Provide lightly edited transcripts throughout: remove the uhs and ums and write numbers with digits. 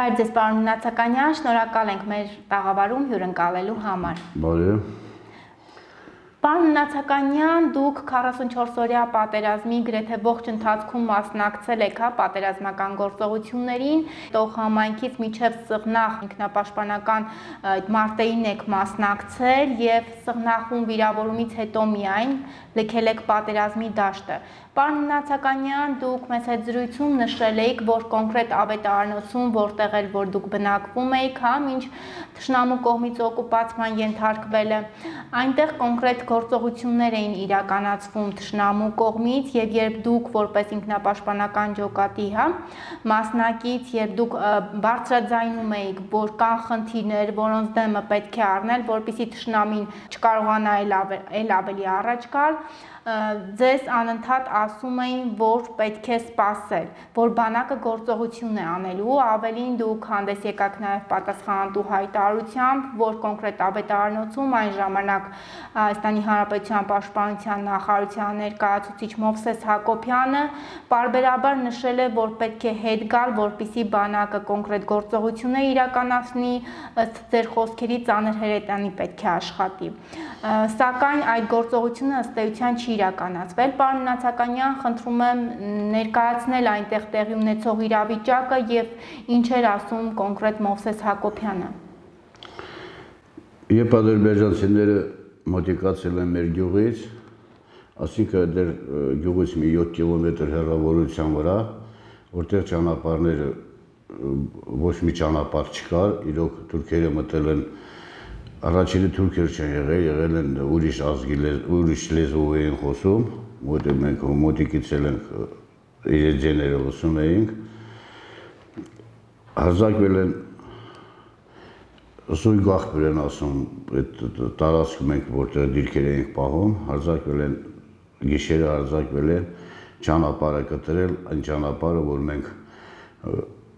Բարև ձեզ, պարոն Նացականյան, շնորհակալ ենք մեր տաղավարում հյուրընկալելու համար։ Բարև։ Պարոն Նացականյան, դուք 44-օրյա պատերազմի գրեթե ողջ ընթացքում մասնակցել եք պատերազմական գործողություններին, Տող համայնքից մինչև Սղնախ ինքնապաշտպանական մարտերին եք մասնակցել եւ Սղնախում վիրավորումից հետո միայն լքել եք պատերազմի դաշտը։ Պարոն Նացականյան, դուք մեծ հետ զրույցում նշել եք, որ կոնկրետ ավետարանոցում, որտեղ էլ որ դուք բնակվում եք, մինչ թշնամու կողմից օկուպացման ենթարկվելը, այնտեղ կոնկրետ գործողություններ էին իրականացվում թշնամու կողմից եւ երբ դուք որպես ինքնապաշտպանական ջոկատի մասնակից, երբ դուք բարձրաձայնում եք, որ կան խնդիրներ, որոնց դեմը պետք է առնել, որպեսզի թշնամին չկարողանա էլ ավելի առաջ գալ, ձեզ անընդհատ ասում էին, որ պետք է սպասել, որ բանակը գործողություն է անելու, ավելին դուք հանդես եկաք նաև պատասխանատու հայտարարությամբ, որ կոնկրետ ավետարանոցում այն ժամանակ Հայաստանի Հանրապետության Պաշտպանության նախարարության ներկայացուցիչ Մովսես Հակոբյանը պարբերաբար նշել է, որ պետք է հետ գալ, որպեսզի բանակը կոնկրետ գործողություններ իրականացնի, ըստ ձեր խոսքերի ծանր հրետանի պետք է աշխատի։ Սակայն այդ գործողությունը ըստ էության չի իրականացվել։ Պարոն Նացականյան, խնդրում եմ ներկայացնել այնտեղ տեղի ունեցող իրավիճակը եւ ինչ էր ասում կոնկրետ Մովսես Հակոբյանը։ Երբ ադրբեջանցիները մոտիկացել են մեր գյուղից, ասինքն դեռ գյուղից մի 7 կիլոմետր հեռավորության վրա, որտեղ ճանապարհները ոչ մի ճանապարհ չկար, իրոք թուրքերը մտել են առաջինը թուրքեր չեն եղել են ուրիշ լեզվով էին խոսում, որտեղ մենք մոտիկից ենք իրենց ձեները լսում էինք, հարձակվել են Սույգ աղբյուր են ասում, այդ տարածքում ենք, որտեղ դիրքեր էինք պահում, հարձակվել են, գիշերը հարձակվել են, ճանապարհը կտրել, այն ճանապարհը, որ մենք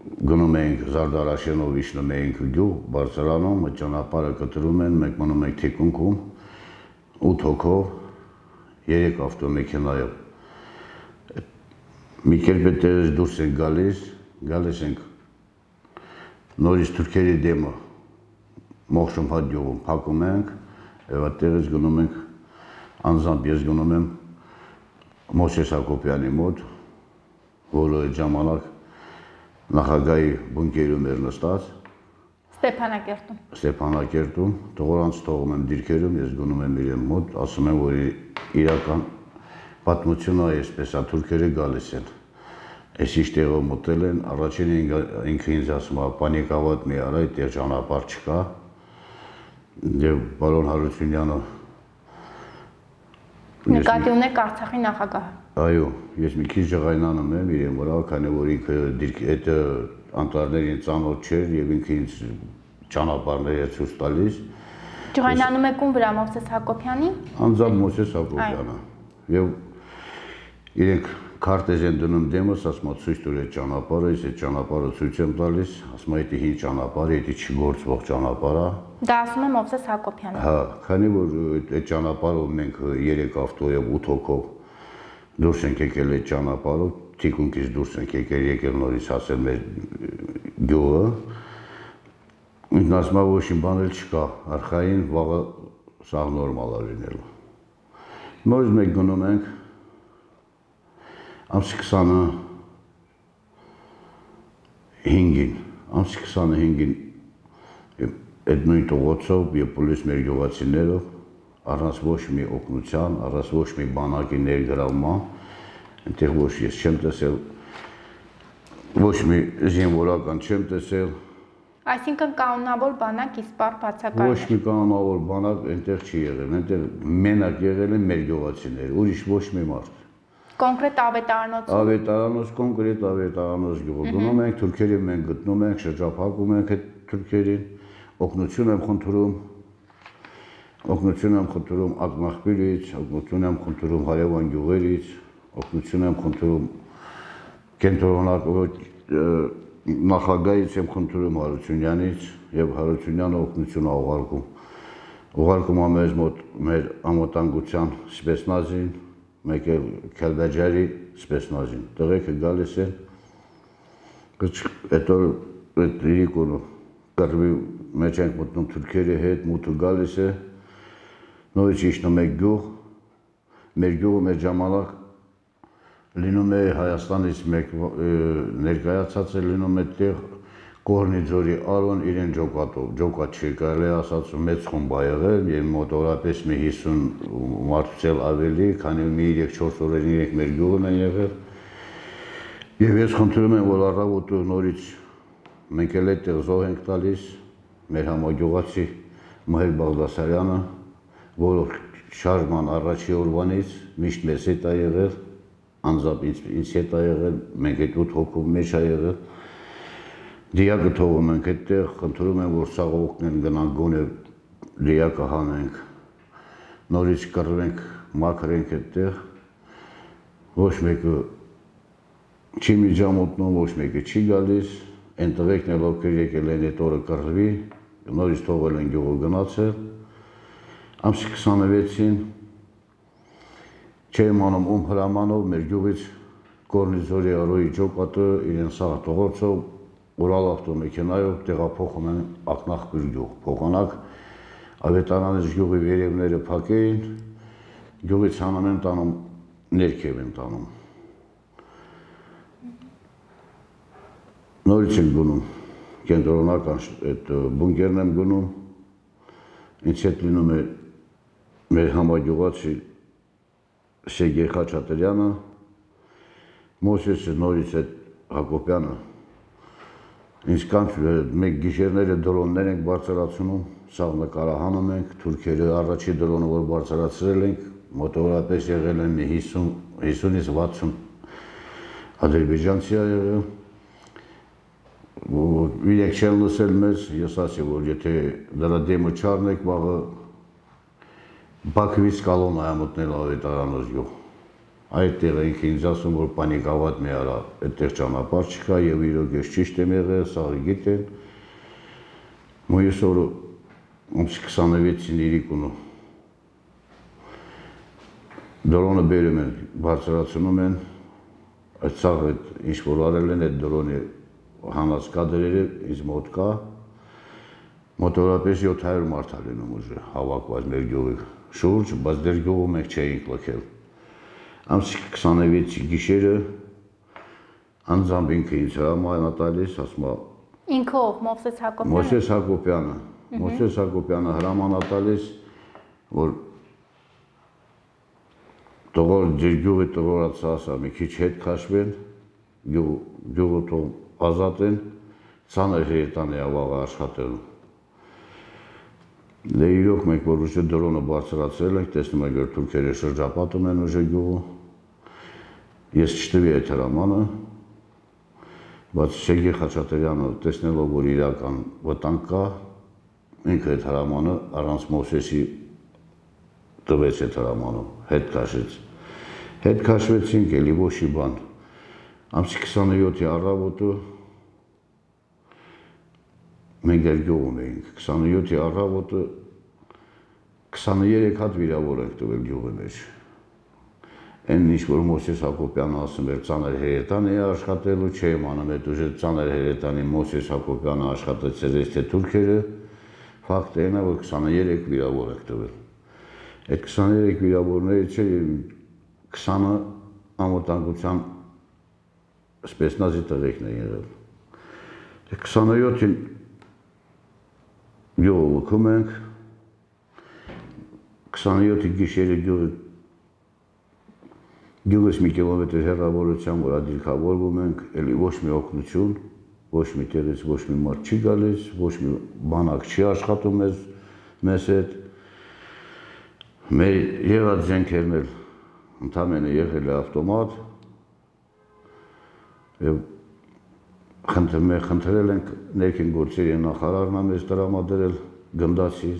գնում էինք Զարդարաշենով իջնում էինք գյուղ, Բարսելանում, այդ ճանապարհը կտրում են, մենք մնում ենք թիկունքում, 8 հոգով, 3 ավտոմեքենայով։ Մի կերպ այդտեղից դուրս ենք գալիս ենք նորից թուրքերի դեմը Մոխշոմհատ գյուղում փակում ենք եւ այդտեղից գնում ենք անձամբ ես գնում եմ Մովսես Հակոբյանի մոտ, որը այդ ժամանակ նախագահի բունկերում էր նստած Ստեփանակերտում, տղորանց թողում եմ դիրքերում, ես գնում եմ իրեն մոտ, ասում եմ, որ իրական պատմությունը այսպես է, թուրքերը գալիս են։ Այս ինչ տեղով մտել են, առաջին ինքը ինձ ասում է, պանիկավատ մի արա, այդտեղ ճանապարհ չկա։ Եվ պարոն Հարությունյանը նկատի ունեք Արցախի նախագահը։ Այո, ես մի քիչ ջղայնանում եմ իրեն վրա, քանի որ ինքը այդ անտառներին ծանոթ չէր եւ ինքը ինձ ճանապարհներ է ցույց տալիս։ Ջղայնանում եք ում վրա, Մովսես Հակոբյանի։ Անձամբ Մովսես Հակոբյանը։ Եվ իրենք քարտեզ են դնում դեմս, ասում է ցույց տուր այդ ճանապարհը, ես այդ ճանապարհը ցույց եմ տալիս, ասում է դա հին ճանապարհ է, դա չգործվող ճանապարհ է։ Դա ասում է Մովսես Հակոբյանը։ Հա, քանի որ այդ ճանապարհով մենք 3 ավտոյով 8 հոգով դուրս ենք եկել այդ ճանապարհով, թիկունքից դուրս ենք եկել նորից հասել մեր գյուղը։ Ինքն ասում է ոչ մի բան էլ չկա, արխային վաղը սա նորմալ է լինելու։ Նորից մենք գնում ենք ամսի 25-ին այդ նույն տողոցով եւ պոլիս մեր գյուղացիներով առանց ոչ մի օգնության, առանց ոչ մի բանակի ներգրավման, այնտեղ ոչ ես չեմ տեսել, ոչ մի զինվորական չեմ տեսել։ Այսինքն կանոնավոր բանակ իսպառ բացակայել։ Ոչ մի կանոնավոր բանակ այնտեղ չի եղել, այնտեղ մենակ եղել են մեր գյուղացիները, ուրիշ ոչ մի մարդ։ Կոնկրետ ավետարանոց, կոնկրետ ավետարանոց գյուղ գնում ենք, թուրքերի մենք գտնում ենք, շրջափակում ենք այդ թուրքերին, օգնություն եմ խնդրում Ակնախբյուրից, օգնություն եմ խնդրում հարևան գյուղերից, օգնություն եմ խնդրում կենտրոնական նախագահից եմ խնդրում Հարությունյանից եւ Հարությունյանը օգնություն է ուղարկում մեզ մոտ մեր ամոտանգության սպեցնազին, մեկ էլ Քելբաջարի սպեցնազին։ Տղեկը գալիս են, հետո այդ իրիկունը կռվի մեջ ենք մտնում թուրքերի հետ, մութը գալիս է, նորից իջնում է գյուղ, մեր գյուղը մեր ժամանակ լինում է Հայաստանից մեկ ներկայացած է լինում է տեղ Կորնի ձորի Արոն իրեն ջոկատով, ջոկատ չի կարելի ասած մեծ խումբ ա եղել եւ մոտավորապես մի 50 մարդուց էլ ավելի, քանի մի 3-4 օրեր իրենք մեր գյուղն են եղել։ Եվ ես խնդրում եմ, որ առավոտը նորից մենք էլ այդտեղ զոհ ենք տալիս մեր համագյուղացի Մհեր Բաղդասարյանը, որը շարժման առաջի օրվանից միշտ մեզ հետ ա եղել, անձամբ ինձ հետ ա եղել, մենք այդ 8 հոգու մեջ ա եղել։ Դիակը թողում ենք այդտեղ, խնդրում եմ, որ սաղողքն գնանք գոնե դիակը հանենք, նորից կռվենք, մաքրենք այդտեղ, ոչ մեկը չի միջամոտնում, ոչ մեկը չի գալիս, այն տղեկն էլ ովքեր եկել են այդ օրը կռվի, նորից թողել են գյուղը գնացել, ամսի 26-ին չէ իմանում ում հրամանով մեր գյուղից Կորնի ձորի Արոյի ջոկատը իրեն սաղ տողոցով Урալ ավտոմեքենայով տեղափոխում են ակնախբյուր գյուղ, փոխանակ ավետարանից գյուղի վերևները փակեին, գյուղից հանում են տանում, ներքև են տանում։ Նորից են գնում, կենտրոնական այդ բունկերն եմ գնում, ինձ հետ լինում է մեր համագյուղացի Սերգեյ Խաչատրյանը, Մոսեսը նորից այդ Հակոբյանը, ինձ կանչում մեկ գիշերները դրոններ ենք բարձրացնում, սաղ նկարահանում ենք, թուրքերը առաջի դրոնը, որ բարձրացրել ենք, մոտավորապես եղել են 50-ից 60 ադրբեջանցի ա եղել, իրենք չեն լսել մեզ, ես ասի, որ եթե դրա դեմը չառնեք, վաղը Բաքվից կալոն ա մտնել ավետարանոց գյուղ։ Այդտեղ ենք ինձ ասում, որ պանիկավատ մի արա, այդտեղ ճանապարհ չկա եւ իրոք ես ճիշտ եմ եղել, սաղը գիտեն։ Մոյս օրը ամսի 26-ին իրիկունը դրոնը բերում են, բարձրացնում են, այդ սաղը ինչ որ արել են այդ դրոնի հանած կադրերը ինձ մոտ կա, մոտավորապես 700 մարդ ա լինում ուժը հավաքված մեր գյուղի շուրջ, բայց դեր գյուղը մենք չէինք լքել։ Ամսի 26-ի գիշերը անձամբ ինքը ինձ հրաման ա տալիս, ասում ա Ինքով Մովսես Հակոբյանը։ Մովսես Հակոբյանը հրաման ա տալիս, որ տղոր ձեր գյուղի տղորացը ասա մի քիչ հետ քաշվեն, գյուղը թող ազատեն, ցաներ հերետան է ավաղը աշխատելու։ Դե իրոք մենք որ ուժը դրոնը բարձրացրել ենք, տեսնում եք որ թուրքերը շրջապատում են ուժը գյուղը։ Ես չտվի այդ հրամանը, բայց Սերգեյ Խաչատրյանը տեսնելով որ իրական վտանգ կա, ինքը այդ հրամանը առանց Մովսեսի տվեց այդ հրամանը, հետ քաշեց։ Հետ քաշվեցինք, էլի ոչի բան։ Ամսի 27-ի առավոտը մենք դեր գյուղում էինք, 27-ի առավոտը 23 հատ վիրավոր ենք տվել գյուղի մեջ։ Այն ինչ որ Մովսես Հակոբյանը ասում էր ծանր հերետան է աշխատելու, չէ իմանում այդ ուժը ծանր հերետանի Մովսես Հակոբյանը աշխատեցել է թե թուրքերը, ֆակտը այն է որ 23 վիրավոր ենք տվել։ Այդ 23 վիրավորներից 20-ը անվտանգության սպեցնազի տղեկն են եղել։ 27-ին գյուղը լքում ենք, 27-ի գիշերը գյուղից մի կիլոմետր հեռավորության վրա դիրքավորվում ենք, էլի ոչ մի օգնություն, ոչ մի տեղից ոչ մի մարդ չի գալիս, ոչ մի բանակ չի աշխատում մեզ հետ։ Մեր եղած զենքերն էլ ընդամենը եղել է ավտոմատ եւ խնդրել ենք ներքին գործերի նախարարն ա մեզ տրամադրել գնդացի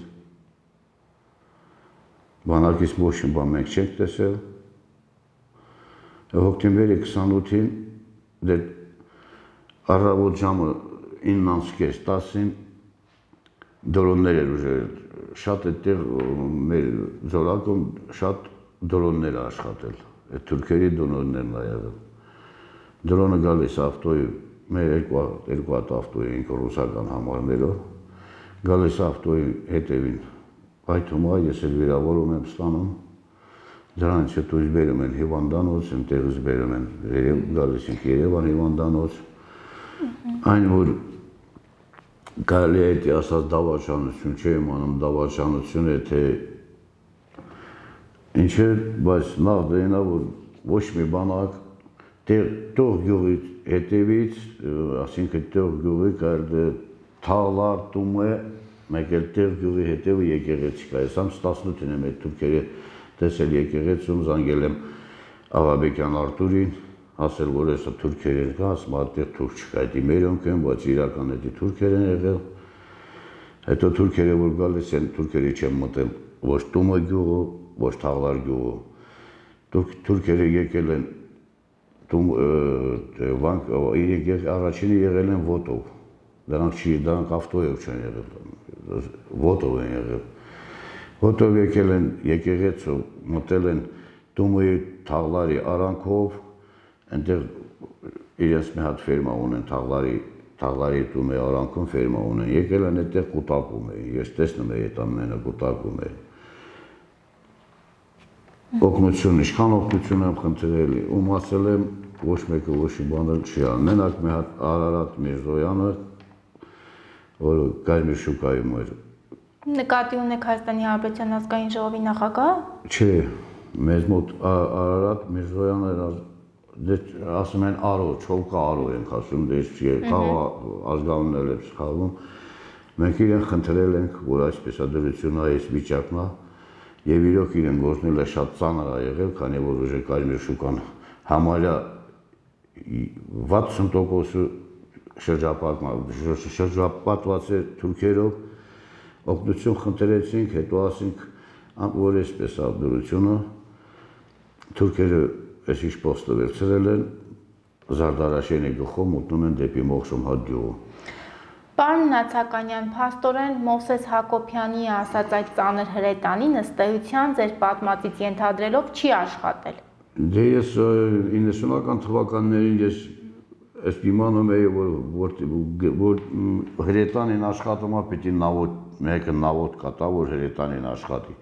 բանակից ոչ մի բան մենք չենք տեսել։ Հոկտեմբերի 28-ին դեր առավոտ ժամը 9:30-10-ին դրոններ էր ուժել, շատ այդտեղ մեր ձորակում շատ դրոններ աշխատել, այդ թուրքերի դրոններն ա եղել։ Դրոնը գալիս ավտոյի մեր երկու հատ ավտո էինք ռուսական համարներով, գալիս ավտոյի հետևին պայթում է, ես էլ վիրավորում եմ ստանում, դրանից հետո ինձ բերում են հիվանդանոց, այնտեղից բերում են գալիս ենք Երևան հիվանդանոց, այն որ կարելի է այդի ասած դավաճանություն չէ, իմանում դավաճանություն է, թե ինչ է, բայց նախ դենա, որ ոչ մի բանակ տող գյուղի հետևից, ասինքն տող գյուղի կարելի թաղլար տում է, մեկ էլ տեղ գյուղի հետևը եկեղեցի կա, ես ամս 18-ին եմ այդ թուրքերը տեսել եկեղեցում, զանգել եմ Աղաբեկյան Արտուրին, ասել, որ եսա թուրքեր են կա, ասում այդտեղ թուրք չկա, այդի մերոնք են, բայց իրական այդի թուրքեր են եղել, հետո թուրքերը որ գալիս են, թուրքերի չեմ մտել, ոչ Տումը գյուղը, ոչ Թաղլար գյուղը, թուրքերը եկել են, առաջինը եղել են Ոտով, դրանք ավտոյով չեն եղել, Ոտով են եղել, Ոտով եկել են եկեղեցու, մտել են Տումոյի Թաղլարի արանքով, այնտեղ իրենց մի հատ ֆերմա ունեն, Թաղլարի Տումոյի արանքում ֆերմա ունեն, եկել են այդտեղ կուտակում էին, ես տեսնում էի այդ ամենը կուտակում էին, օգնություն, ինչքան օգնություն եմ խնդրել, ում ասել եմ, ոչ մեկը ոչ մի բանը չի ան, մենակ մի հատ Արարատ Միրզոյանը, որ Կարմիր շուկայում էր։ Նկատի ունեք Հայաստանի Հանրապետության ազգային ժողովի նախագահ։ Չէ, մեզ մոտ Արարատ Միրզոյանը ասում են Արո, Չոլկա Արո ենք ասում, ազգանուններ եմ սխալվում, մենք իրեն խնդրել ենք, որ այսպես դրությունը այս վիճակն է, եւ իրոք իրեն գործնելը շատ ծանր է եղել, քանի որ ուժը Կարմիր շուկան համարյա 60% շրջապատված է թուրքերով, օգնություն խնդրեցինք, հետո ասինք, որ այսպես է դրությունը, թուրքերը այսիշ պոստը վերցրել են, Զարդարաշենի գլխով մտնում են դեպի Մոխշում հատգյուղը։ Պարոն Նացականյան, փաստորեն Մովսես Հակոբյանի ասած այդ ծանր հրետանին ըստ էության ձեր պատմածից ենթադրելով չի աշխատել։ Դե ես 90-ական թվականներին ես իմանում էի, որ հրետանին աշխատում է պիտի մեկը նավոտ կատա, որ հրետանին աշխատի։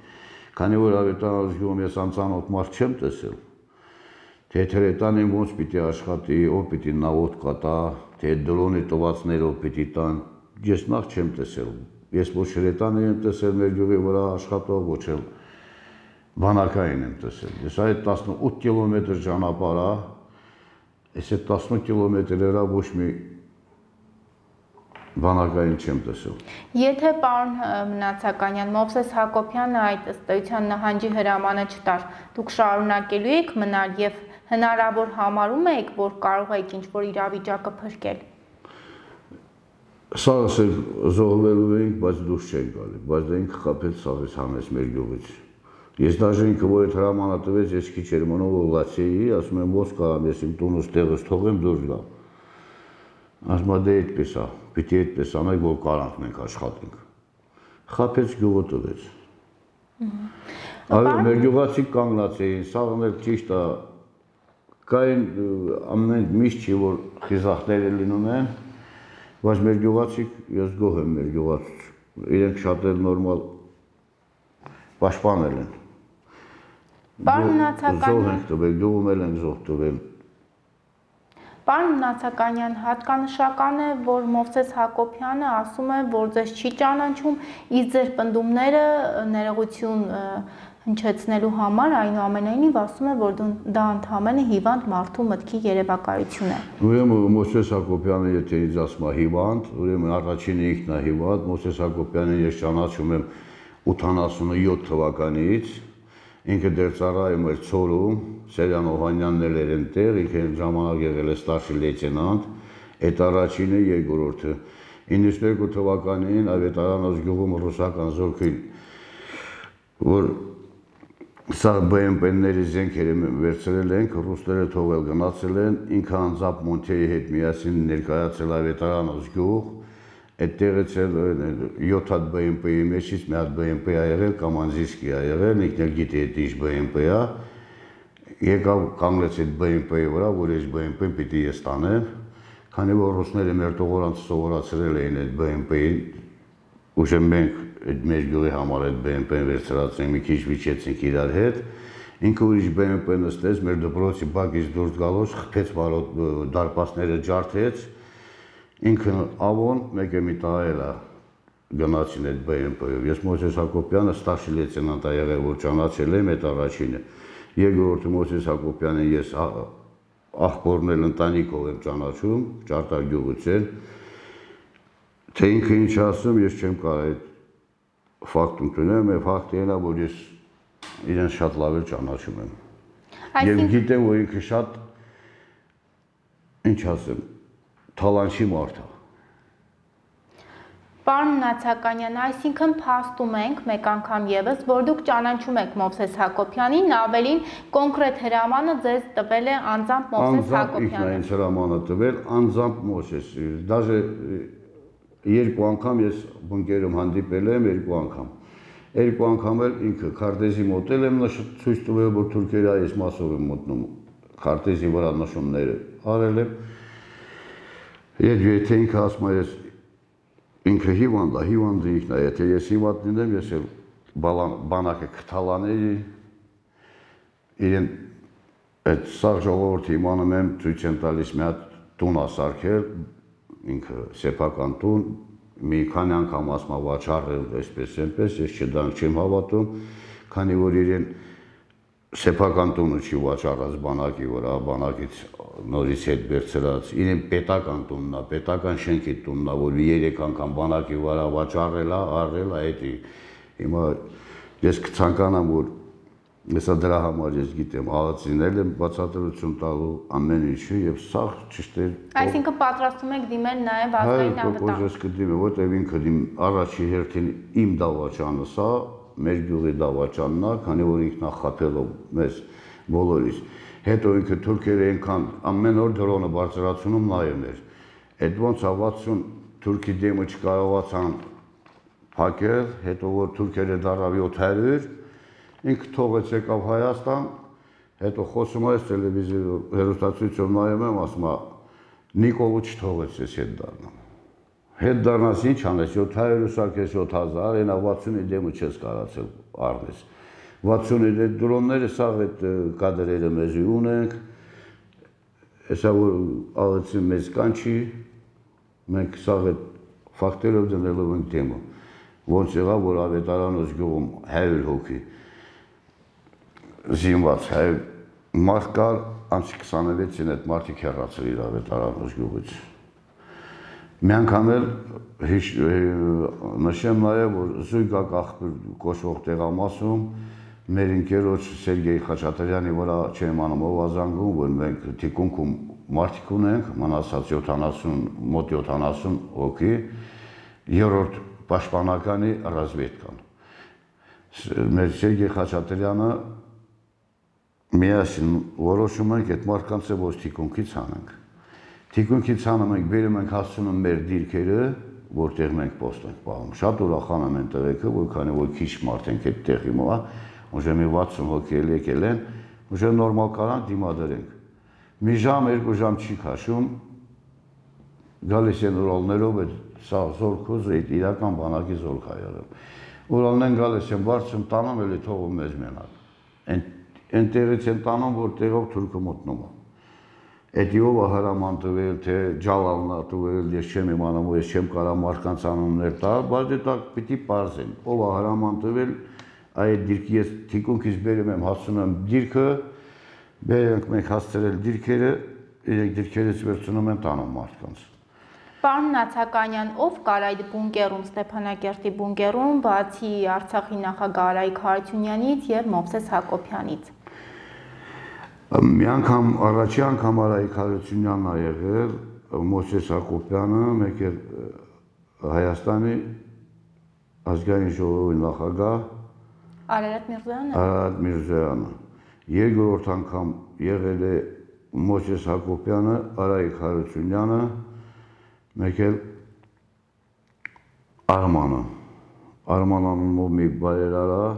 Քանի որ Ավետարան ազգում ես անծանոթ մարդ չեմ տեսել, թե հրետանին ոնց պիտի աշխատի, ով պիտի նավոտ կատա, թե դրոնի տվածներով պիտի տան, ես նախ չեմ տեսել, ես ոչ հրետանին եմ տեսել մեր գյուղի վրա աշխատող, ոչ էլ բանակային եմ տեսել, ես այդ 18 կիլոմետր ճանապարհ է, ես այդ 18 կիլոմետրերը ոչ մի բանակային չեմ տեսել։ Եթե պարոն Նացականյան, Մովսես Հակոբյանը այդ ըստ էության նահանջի հրամանը չտար, դուք շարունակելու եք մնալ եւ հնարավոր համարում եք, որ կարող եք ինչ-որ իրավիճակը փրկել։ Սա ասել զոհվելու էինք, բայց դուրս չենք գալի, բայց դա ինքը խփել սաղից հանեց մեր գյուղից։ Ես դաժե ինքը որ այդ հրամանը տվեց, ես քիչ էր մնում որ լացեի, ասում եմ ոնց կարամ ես իմ տունս տեղս թողեմ դուրս գամ։ Ասում եմ դե այդպես է, պիտի այդպես անենք, որ կարանք մենք աշխատենք։ Խփեց գյուղը տվեց։ Այո, մեր գյուղացիք կանգնած էին, սաղն էլ ճիշտ է, կային ամեն միշտ չի որ խիզախները լինում են, բայց մեր գյուղացիք, ես գոհ եմ մեր գյուղացուց, իրենք շատ էլ նորմալ պաշտպանել են։ Պարոն Նացականյան, զոհ ենք տվել, գյուղում էլ ենք զոհ տվել։ Պարոն Նացականյան, հատկանշական է, որ Մովսես Հակոբյանը ասում է, որ ձեզ չի ճանաչում, իսկ ձեր պնդումները ներողություն հնչեցնելու համար այնուամենայնիվ ասում է, որ դա ընդհանրապես հիվանդ մարդու մտքի երևակայություն է։ Ուրեմն Մովսես Հակոբյանը եթե ինձ ասում է հիվանդ, ուրեմն առաջինը ինքն է հիվանդ, Մովսես Հակոբյանը ես ճանաչում եմ 87 թվականից, ինքը դեռ ծառայում էր Ցորում, Սերյան Օհանյանն էր այնտեղ, ինքը ժամանակ եղել է ստարշի լեյտենանտ, այդ առաջինը երկրորդը։ 92 թվականին Ավետարան ազգյուղում ռուսական զորքին, որ սա BMP-ների զենքերը վերցրել ենք, ռուսները թողել գնացել են, ինքը անձամբ Մոնթեի հետ միասին ներկայացել Ավետարան ազգյուղ, այդտեղից էլ 7 հատ BMP-ի մեջից մի հատ BMP է եղել, Կամանզիսկի է եղել, ինքն էլ գիտի այդ ինչ BMP է, եկավ կանգնեց այդ BMP-ի վրա, որ այս BMP-ն պիտի ես տանեմ, քանի որ ռուսները մեր տողորանցը սովորացրել էին այդ BMP-ին, ուժը մենք այդ մեր գյուղի համար այդ BMP-ն վերցրացինք, մի քիչ վիճեցինք իրար հետ, ինքը ուրիշ BMP նստեց, մեր դպրոցի բակից դուրս գալուց խփեց դարպասները ջարդեց, ինքը ավոն մեկը մի տահելա գնացին այդ BMP-ով, ես Մոսես Հակոբյանը ստարշի լեյտենանտ ա եղել, որ ճանաչել եմ այդ առաջինը, երկրորդը Մոսես Հակոբյանը ես աղբորն էլ ընտանիքով եմ ճանաչում, Ճարտար գյուղից են, թե ինքը ինչ ասում, ես չեմ կարող այդ ֆակտում տունեմ, և ֆակտը ենա, որ ես իրեն շատ լավ էլ ճանաչում եմ։ Եվ գիտեմ, որ ինքը շատ, ինչ ասեմ, թալանչի մարդ է։ Պարոն Նացականյան, այսինքն փաստում ենք մեկ անգամ ևս, որ դուք ճանաչում եք Մովսես Հակոբյանին, ավելին կոնկրետ հրամանը ձեզ տվել է անձամբ Մովսես Հակոբյանը։ Անձամբ ինքն է ինձ հրամանը տվել, անձամբ Մովսես, դաժե երկու անգամ ես բունկերում հանդիպել եմ, երկու անգամ էլ ինքը քարտեզի մոտել եմ ցույց տվել, որ թուրքերը այս մասով են մոտնում, քարտեզի վրա նշումները արել եմ, եւ եթե ինքը ասում է ես ինքը հիվանդը ինքն է, եթե ես հիվանդ լինեմ, ես էլ բանակը կթալաների, իրեն այդ սաղ ժողովորդը իմանում եմ, ցույց եմ տալիս մի հատ տուն ասարքել, ինքը սեփական տուն, մի քանի անգամ ասում է վաճառել, այսպես, ես չդրանք չեմ հավատում, քանի որ իրեն սեփական տունը չի վաճառած բանակի վրա, բանակից նորից հետ վերցրած, իրեն պետական տունն է, պետական շենքի տունն է, որ 3 անգամ բանակի վրա վաճառել է, արել է, էդի, հիմա ես կցանկանամ, որ Հեսա դրա համար ես գիտեմ, աղացինել եմ բացատրություն տալու ամեն ինչը և սաղ ճիշտ էր։ Այսինքն պատրաստում եք դիմել նաև ազգային անվտանգ։ Հայ ես կդիմեմ, որտև ինքը առաջի հերթին իմ դավաճանը սա, մեր գյուղի դավաճանն է, քանի որ ինքն է խաբելով մեզ բոլորիս։ Հետո ինքը թուրքերը այնքան ամեն օր դրոնը բարձրացնում նայում էր։ Այդ ոնց 60 թուրքի դեմը չկարողացան փակել, հետո որ թուրքերը դառավ 700 ինքը թողեց եկավ Հայաստան, հետո խոսում է տելևիզիա հեռուստացույցով նայում եմ, ասում է Նիկոլը չթողեց ես հետ դառնամ։ Հետ դառնաս ինչ անես, 700 սարքես 7000, այնա 60-ի դեմը չես կարացել առնես։ 60-ի դրոնները սաղ այդ կադրերը մեզի ունենք, հեսա որ աղեցի մեզ կանչի, մենք սաղ այդ ֆակտերով դնելով ենք դեմը, ոնց եղավ, որ ավետարանոց գյուղում 100 հոգի զինված մարդ կար, անցի 26-ին այդ մարդիկ հեռացել իր ավետարանոց գյուղից։ Մի անգամ էլ նշեմ նաև, որ Զույգակ աղբյուր կոչվող տեղամասում մեր ընկերոջ Սերգեյ Խաչատրյանի վրա չեմ անում ով ազանգում, որ մենք թիկունքում մարդիկ ունենք, մնացած 70, մոտ 70 հոգի, երրորդ պաշտպանականի ռազմետկան։ Մեր Սերգեյ Խաչատրյանը միասին որոշում ենք այդ մարդկանց ոչ թիկունքից հանենք։ Թիկունքից հանում ենք, բերում ենք հասցնում մեր դիրքերը, որտեղ մենք պոստ ենք պահում։ Շատ ուրախանում են տղեկը, որ քանի որ քիչ մարդ ենք այդ տեղի մոտ, ուժը մի 60 հոգի եկել են, ուժը նորմալ կարան դիմադրենք։ Մի ժամ, 2 ժամ չի քաշում, գալիս են Ուրալներով այդ սա զորքոզ, այդ իրական բանակի զորք ա եղել։ Ուրալն են գալիս են բարձրում տանում, էլի թողում մեզ մենակ։ Այնտեղից են տանում, որ տեղով թուրքը մոտնում է։ Էդի ով հրաման տվել, թե ջալալն է տվել, ես չեմ իմանում, ես չեմ կարա մարդկանց անուններ տալ, բայց դա պիտի պարզեմ։ Ով հրաման տվել, այդ դիրքի ես թիկունքից բերում եմ, հասցնում եմ դիրքը, բերենք մենք հասցրել դիրքերը, իրենք դիրքերից վերցնում են տանում մարդկանց։ Պարոն Նացականյան, ով կար այդ բունկերում, Ստեփանակերտի բունկերում, բացի Արցախի նախագահ Արայիկ Հարությունյանից եւ Մովսես Հակոբյանից։ Մի անգամ, առաջի անգամ Արայիկ Հարությունյանն ա եղել, Մովսես Հակոբյանը, մեկ էլ Հայաստանի ազգային ժողովի նախագահ Արարատ Միրզոյանը։ Երկրորդ անգամ եղել է Մովսես Հակոբյանը, Արայիկ Հարությունյանը, մեկ էլ Արման անունով մի բարերար է,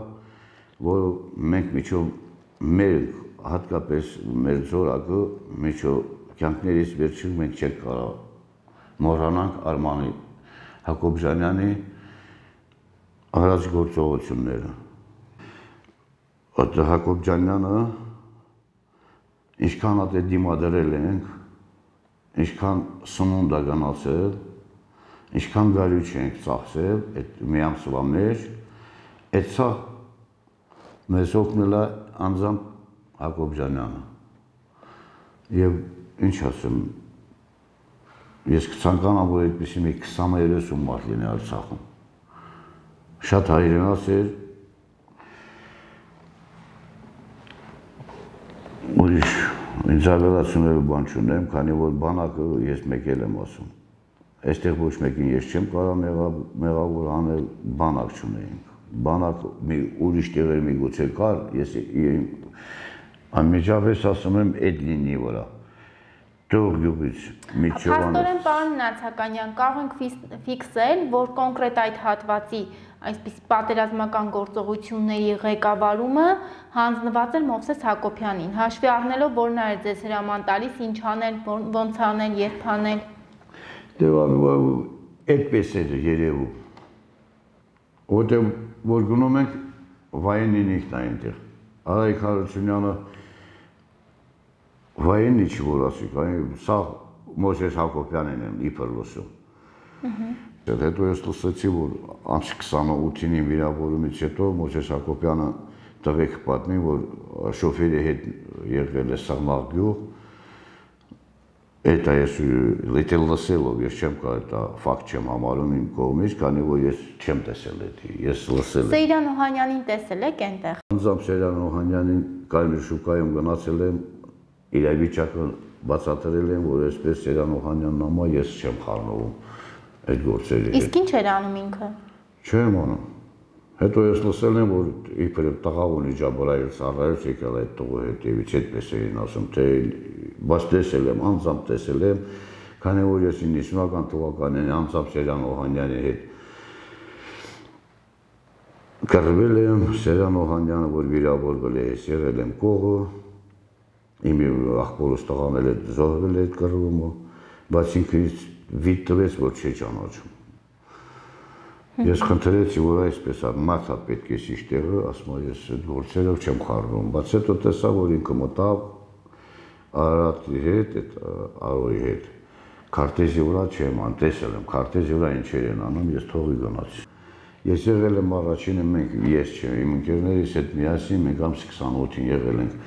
որ մենք միջով մեր հատկապես մեր զորակը միջով կյանքներից վերջին մենք չենք կարող մոռանանք Արմանի Հակոբյանյանի արած գործողությունները։ Այդ Հակոբյանը ինչքան հատ է դիմադրել ենք, ինչքան սնունդ է գնացել, ինչքան գարյուչ ենք ծախսել այդ մի ամսվա մեջ, այդ սա մեզ օգնել է անձամբ Հակոբյանը։ Եվ ինչ ասեմ, ես կցանկանամ, որ այդպիսի մի 20-30 մարդ լինի Արցախում։ Շատ հայրենաց էր, ուրիշ ինձ ավելացնելու բան չունեմ, քանի որ բանակը ես մեկ էլ եմ ասում։ Այստեղ ոչ մեկին ես չեմ կարող մեղավոր անել, բանակ չունեինք։ Բանակ մի ուրիշ տեղեր միգուցե կար, ես անմիջապես ասում եմ այդ լինի վրա։ Տող գյուղից միջովանից։ Փաստորեն, պարոն Նացականյան, կարող ենք ֆիքսել, որ կոնկրետ այդ հատվածի այսպես պատերազմական գործողությունների ղեկավարումը հանձնված էր Մովսես Հակոբյանին, հաշվի առնելով, որ նա էր ձեզ հրաման տալիս, ինչ անել, ոնց անել, երբ անել։ Այդպես էր երևում, որտեղ որ գնում ենք վայենին ինքն այնտեղ, Արայք Հարությունյանը վայենի չի որ ասի, սա Մովսես Հակոբյանին եմ իբր լսում։ Հետո ես լսեցի, որ ամսի 28-ին վիրավորումից հետո Մովսես Հակոբյանը տղեկ պատմի, որ շոֆերի հետ եղել է Սաղմաղ գյուղ, այդ ես լիտել լսելով, ես չեմ կարող դա ֆակտ չեմ համարում իմ կողմից, քանի որ ես չեմ տեսել դա, ես լսել եմ։ Սեյրան Օհանյանին տեսել եք այնտեղ։ Անձամբ Սեյրան Օհանյանին Կարմիր շուկայում գնացել եմ, իրավիճակը բացատրել եմ, որ այսպես Սեյրան Օհանյանն ամա ես չեմ խառնվում այդ գործերի հետ։ Իսկ ինչ էր անում ինքը։ Չեմ անում։ Հետո ես լսել եմ, որ իբր տղա ունի Ջաբարայել Սարայից եկել այդ տղու հետևից, այդպես էին ասում, թե բայց տեսել եմ, անձամբ տեսել եմ, քանի որ ես 90-ական թվականին անձամբ Սեյրան Օհանյանի հետ կռվել եմ, Սեյրան Օհանյանը, որ վիրավորվել է, ես եղել եմ կողը, իմ աղբորս տղան էլ զոհվել է այդ կռվումը, բայց ինքը վիճ տվեց, որ չի ճանաչում։ Ես խնդրեցի, որ այսպես մարդա պետք է սիշ տեղը, ասում ես այդ գործերով չեմ խառնում, բայց հետո տեսա, որ ինքը մտավ Արարատի հետ, այդ Արոյի հետ, քարտեզի վրա չեմ ան, տեսել եմ, քարտեզի վրա ինչեր են անում, ես թողի գնացի։ Ես եղել եմ առաջինը մենք, ես չեմ, իմ ընկերներիս հետ միասին, մենք ամսի 28-ին եղել ենք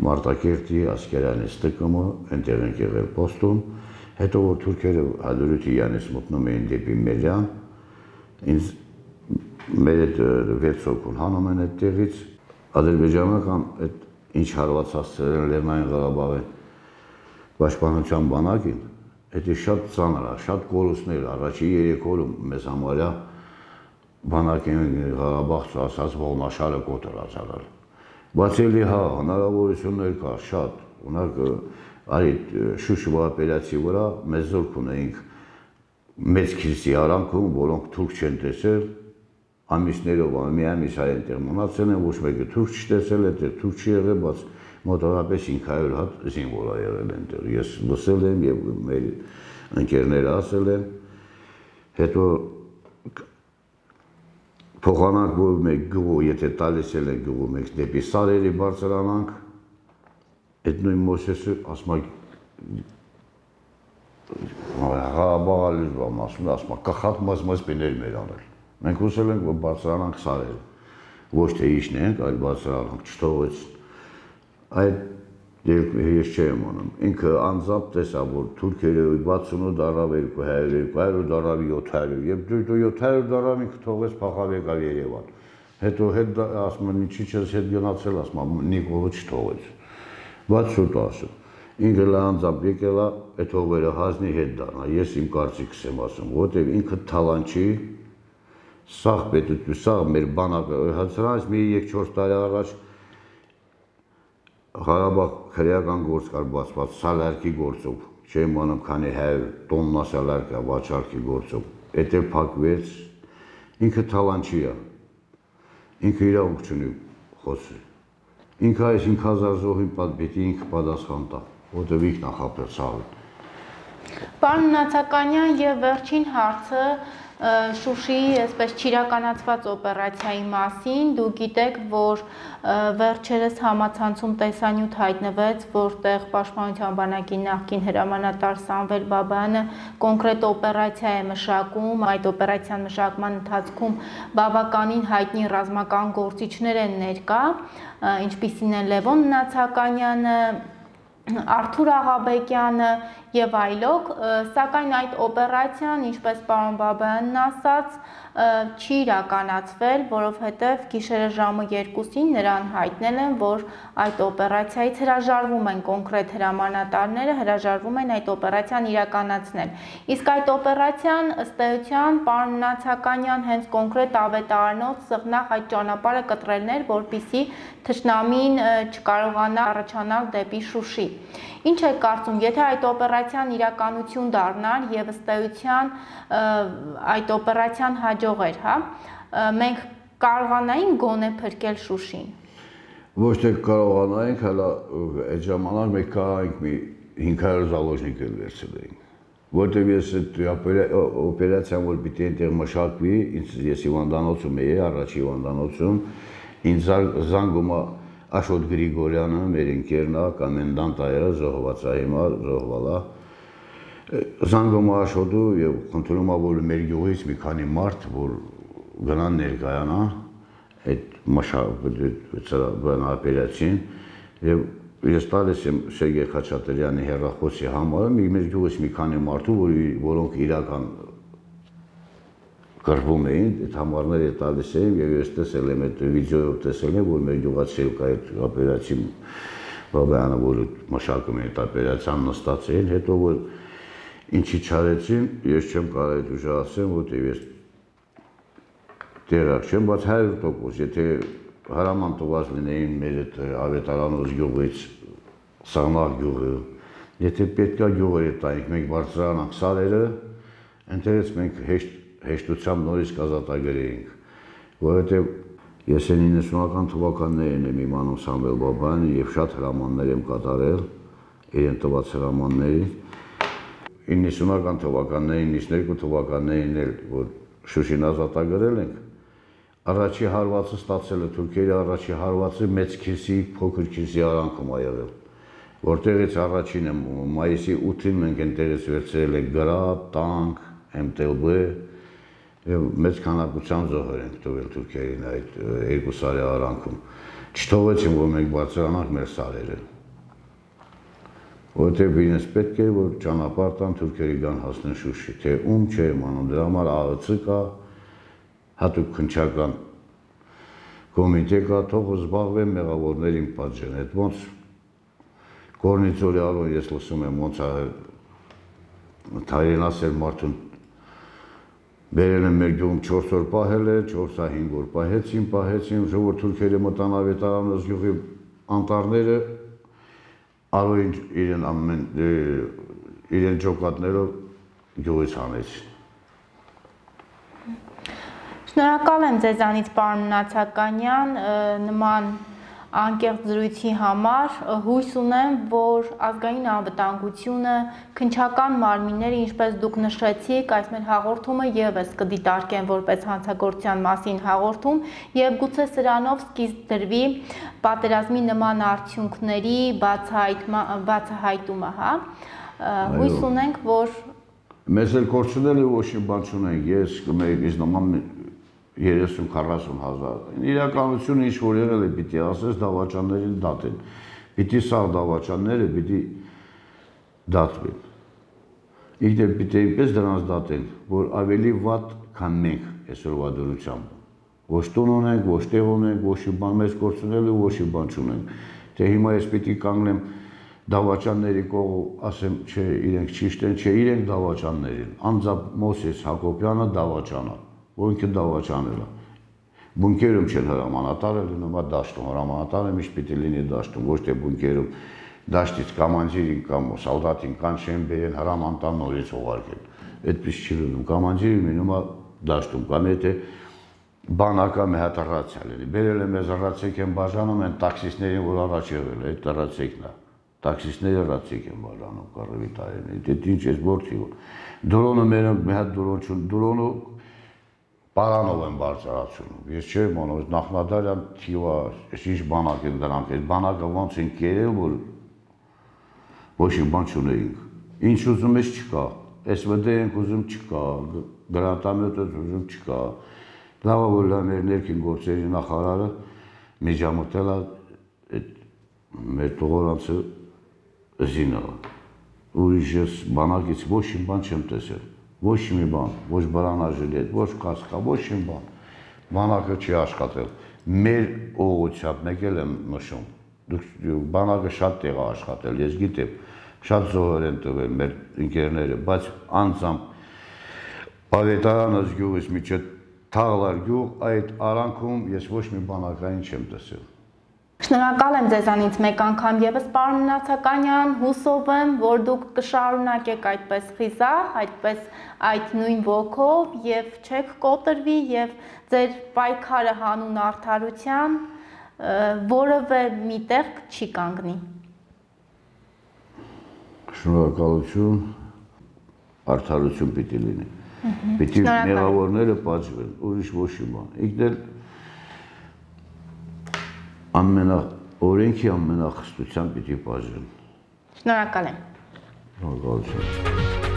Մարտակերտի Ասկերյանի ստկումը, այնտեղ ենք եղել պոստում, հետո որ թուրքերը Հադրութի Յանից մտնում էին դեպի Մելյան, ինձ մեր այդ 6 հոգուն հանում են այդ տեղից, ադրբեջանական այդ ինչ հարվածացրել են Լեռնային Ղարաբաղի պաշտպանության բանակին, դա շատ ծանր է, շատ կորուստներ, առաջի 3 օրում մեզ համարյա բանակին Ղարաբաղ ասած ողնաշարը կոտրած արել։ Բայց էլի հա, հնարավորություններ կար շատ, ունակ այդ Շուշվա ապելացի վրա մեզ զորք ունեինք մեծ քիլսի արանքում, որոնք թուրք չեն տեսել, ամիսներով, մի ամիս այնտեղ մնացել են, ոչ մեկը թուրք չտեսել, այդտեղ թուրք չի եղել, բայց մոտավորապես 500 հատ զինվոր է եղել այնտեղ։ Ես լսել եմ եւ մեր ընկերները ասել են, հետո փոխանակ որ մեկ գյուղ, եթե տալիս են գյուղը մեկ դեպի Սարերի բարձրանանք, այդ նույն Մովսեսը ասում է Ղարաբաղալի ասում է կախատ մազ պիներ մեր անել։ Մենք ուզել ենք, որ բարձրանանք Սարերը, ոչ թե իջնենք, այլ բարձրանանք, չթողեց։ Այդ ես չեմ անում։ Ինքը անձամբ տեսա, որ թուրքերը 68 դարավ 200, 200 դարավ 700, եւ դու 700 դարավ ինքը թողեց փախավ եկավ Երևան։ Հետո հետ ասում են, ինչի՞ չես հետ գնացել, ասում են, Նիկոլը չթողեց։ Բայց շուտ ասում։ Ինքը անձամբ եկել է այդ հողերը հազնի հետ դառնա, ես իմ կարծիքս եմ ասում, որտեղ ինքը թալանչի, սաղ պետություն, սաղ մեր բանակը, հացրանից մի 3-4 տարի առաջ Ղարաբաղ քրեական գործ կար բացված սալարկի գործով, չեմ անում քանի 100 տոննա սալարկա վաճառքի գործով, այդ էլ փակվեց, ինքը թալանչի է, ինքը իրավունք չունի խոսել, ինքը այս 5000 զոհի պիտի ինքը պատասխան տա, որտեղ ինքն է խաբել սաղը, Պարոն Նացականյան, եւ վերջին հարցը Շուշիի այսպես չիրականացված օպերացիայի մասին, դուք գիտեք, որ վերջերս համացանցում տեսանյութ հայտնվեց, որտեղ Պաշտպանության բանակի նախկին հրամանատար Սամվել Բաբայանը կոնկրետ օպերացիա է մշակում, այդ օպերացիան մշակման ընթացքում բավականին հայտնի ռազմական գործիչներ են ներկա, ինչպիսին են Լևոն Նացականյանը, Արթուր Աղաբեկյանը եւ այլոք, սակայն այդ օպերացիան, ինչպես պարոն Բաբայանն ասաց, չի իրականացվել, որովհետեւ գիշերը ժամը 2-ին նրան հայտնել են, որ այդ օպերացիայից հրաժարվում են կոնկրետ հրամանատարները, հրաժարվում են այդ օպերացիան իրականացնել։ Իսկ այդ օպերացիան ըստ էության պարոն Նացականյան հենց կոնկրետ ավետարանով սղնաղ այդ ճանապարհը կտրելն էր, որպեսզի թշնամին չկարողանա առաջանալ դեպի Շուշի։ Ինչ եք կարծում, եթե այդ օպերացիան իրականություն դառնար եւ ըստ էության այդ օպերացիան հաջող էր, հա, մենք կարողանային գոնե փրկել Շուշին։ Ոչ թե կարողանայինք, հələ այդ ժամանակ մենք կարողանք մի 500 զալոժնիկ վերցնել, որտեղ ես այդ օպերացիան որ պիտի այնտեղ մշակվի, ես հիվանդանոցում էի, առաջ հիվանդանոցում, ինձ զանգում է Աշոտ Գրիգորյանը, մեր ընկերն է, կոմենդանտ է, զոհված է հիմա, զոհվել է։ Զանգում է Աշոտու եւ խնդրում է, որ մեր գյուղից մի քանի մարդ, որ գնան ներկայանա այդ օպերացիան եւ ես տալիս եմ Սերգեյ Խաչատրյանի հեռախոսի համարը, մեր գյուղից մի քանի մարդու, որոնք իրական կրվում էին, այդ համարները տալիս էին եւ ես տեսել եմ այդ վիդեոյով տեսել եմ, որ մեր գյուղացի այդ օպերացիա Բաբայանը, որ մշակում էին այդ օպերացիան նստած էին, հետո որ ինչի չարեցին, ես չեմ կարող ուժ ասեմ, որտեղ ես տեղակ չեմ, բայց 100%, եթե հրաման տված լինեին մեր այդ ավետարանոց գյուղից, Սաղնաղ գյուղը, եթե պետքա գյուղերը տայինք, մենք բարձրանանք սարերը, այնտեղից մենք հեշտությամբ նորից կազատագրեինք, որովհետև ես 90-ական թվականներին եմ իմանում Սամվել Բաբայանը եւ շատ հրամաններ եմ կատարել, իրեն տված հրամանների, 90-ական թվականներին, 92 թվականներին էլ, որ Շուշին ազատագրել ենք, առաջի հարվածը ստացել է թուրքերի առաջի հարվածը մեծ քիրսի, փոքր քիրսի արանքում ա եղել, որտեղից առաջին եմ մայիսի 8-ին մենք այնտեղից վերցրել ենք գրաբ, տանկ, MTLB եւ մեծ քանակությամբ զոհեր ենք տվել թուրքերին այդ երկու սարի արանքում։ Չթողեցին, որ մենք բարձրանանք մեր սարերը։ Որտեղ իրենց պետք է որ ճանապարհ տան թուրքերի գան հասնեն Շուշի, թե ում չէ իմանում, դրա համար ԱԸՑ կա, հատուկ քննչական կոմիտե կա, թող զբաղվեն մեղավորներին պատժեն, այդ ոնց Կորնիցորի արոն ես լսում եմ ոնց Թայրեն ասել մարդուն բերել են մեր գյուղում 4 օր պահել է, 4-5 օր պահեցին, որ թուրքերը մտան ավետարանոց գյուղի անտառները արոին իրեն ջոկատներով գյուղից հանեցին։ Շնորհակալ եմ ձեզանից պարոն Նացականյան, նման անկեղծ զրույցի համար, հույս ունեմ, որ ազգային անվտանգությունը, քննչական մարմինները, ինչպես դուք նշեցիք, այս մեր հաղորդումը եւս կդիտարկեն որպես հանցագործության մասին հաղորդում եւ գուցե սրանով սկիզբ դրվի պատերազմի նման արդյունքների բացահայտումը, հա։ Հույս ունենք, որ մեզ էլ կորցնել է ոչ մի բան չունենք, ես կմեզ նման 30-40 հազար։ Իրականությունը ինչ որ եղել է, պիտի ասես դավաճաններին դատեն։ Պիտի սաղ դավաճանները պիտի դատվեն։ Իհարկե պիտի այնպես դրանց դատեն, որ ավելի վատ, քան մենք այսօրվա դրությամբ։ Ոչ տուն ունենք, ոչ տեղ ունենք, ոչ մի բան մեզ կորցնել ու ոչ մի բան չունենք։ Թե հիմա ես պիտի կանգնեմ դավաճանների կողմ, ասեմ, չէ, իրենք ճիշտ են, չէ, իրենք դավաճաններ են։ Անձամբ Մոսես Հակոբյանը դավաճան է, որ ինքը դավաճանել է։ Բունկերում չեն հրամանատարը լինում է դաշտում, հրամանատարը միշտ պիտի լինի դաշտում, ոչ թե բունկերում դաշտից կամանձիրին կամ սալդատին կանչեն բերեն հրամանտան նորից ուղարկեն։ Այդպես չի լինում, կամանձիրը մնում է դաշտում, կամ եթե բանակա մի հատ ռացիա լինի, բերել է մեզ ռացիակ են բաժանում են տաքսիստներին, որ առաջ եղել է, այդ ռացիակն է։ տաքսիստները ռացիկ են բաժանում կարևի տարին, դե ինչ ես գործի որ, դրոնը մերը մի հատ դրոն չուն, դրոնը պարանով են բարձրացունում, ես չեմ անում, նախնադարյան թիվա, ես ինչ բանակ են դրանք, այս բանակը ոնց են կերել, որ ոչ իմ բան չունեինք, ինչ ուզում ես չկա, SVD ենք ուզում չկա, գրանտամետ ուզում չկա, լավա որ մեր ներքին գործերի նախարարը միջամտել է մեր տողորանցը զինը, ուրիշ ես բանակից ոչ իմ բան չեմ տեսել, ոչ մի բան, ոչ բրանաժիլետ, ոչ կասկա, ոչ իմ բան, բանակը չի աշխատել, մեր ուղղությամբ մեկ էլ եմ նշում, բանակը շատ տեղ է աշխատել, ես գիտեմ, շատ զոհեր են տվել մեր ընկերները, բայց անձամբ Պավետարանս գյուղից միջև Թաղլար գյուղ, այդ արանքում ես ոչ մի բանակային չեմ տեսել։ Շնորհակալ եմ ձեզանից մեկ անգամ եւս պարոն Նացականյան, հուսով եմ, որ դուք կշարունակեք այդպես խիզախ, այդպես այդ նույն ոգով եւ չեք կոտրվի եւ ձեր պայքարը հանուն արդարության որևէ միտեղ չի կանգնի։ Շնորհակալություն, արդարություն պիտի լինի։ Պիտի մեղավորները պատժվեն, ուրիշ ոչ մի բան։ Ինքն էլ օրենքի ամենախստությամբ պիտի պատժվեն։ Շնորհակալ եմ։ Շնորհակալություն։